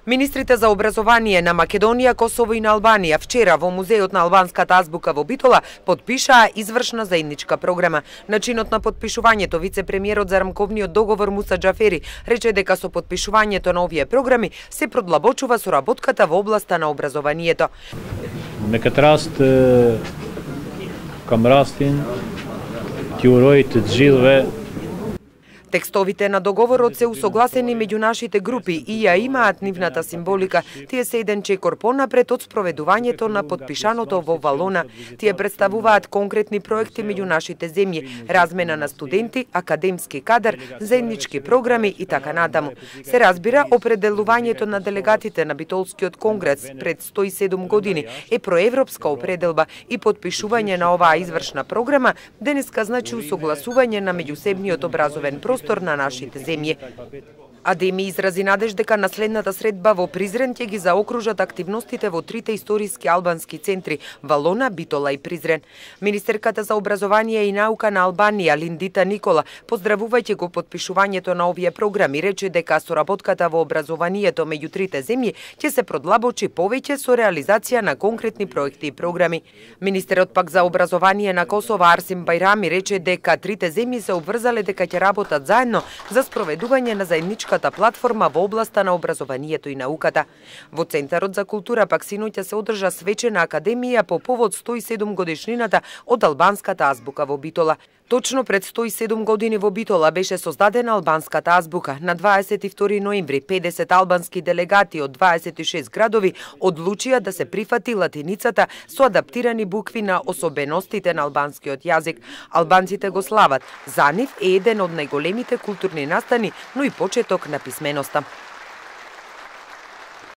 Министрите за образование на Македонија, Косово и на Албанија вчера во Музеот на албанската азбука во Битола подпишаа извршна заедничка програма. На чинот на подпишувањето вице-премиерот за рамковниот договор Муса Џафери рече дека со подпишувањето на овие програми се продлабочува соработката во областа на образованието. Me këtë rast kam rastin t'ju uroj të gjithëve. Текстовите на договорот се усогласени меѓу нашите групи и ја имаат нивната символика. Тие се еден чекор понапред од спроведувањето на подпишаното во Валона. Тие представуваат конкретни проекти меѓу нашите земји, размена на студенти, академски кадар, заеднички програми и така натаму. Се разбира, определувањето на делегатите на Битолскиот конгрес пред 107 години е проевропска определба и подпишување на оваа извршна програма денеска значи усогласување на меѓусебниот образовен простор на нашите земји. Адеми изрази надеж дека на следната средба во Призрен ќе ги заокружат активностите во трите историски албански центри Валона, Битола и Призрен. Министерката за образование и наука на Албанија Линдита Никола, поздравувајќи го подпишувањето на овие програми, рече дека соработката во образованието меѓу трите земји ќе се продлабочи повеќе со реализација на конкретни проекти и програми. Министерот пак за образование на Косово Арсим Бајрами рече дека трите земји се обврзале дека ќе работат заедно за спроведување на заедничката платформа во областа на образованието и науката. Во Центарот за култура пак синоќа се одржа свечена академија по повод 107 годишнината од албанската азбука во Битола. Точно пред 107 години во Битола беше создадена албанската азбука. На 22 ноември 50 албански делегати од 26 градови одлучија да се прифати латиницата со адаптирани букви на особеностите на албанскиот јазик. Албанците го слават. За нив е еден од најголемите културни настани, но и почеток на писменоста.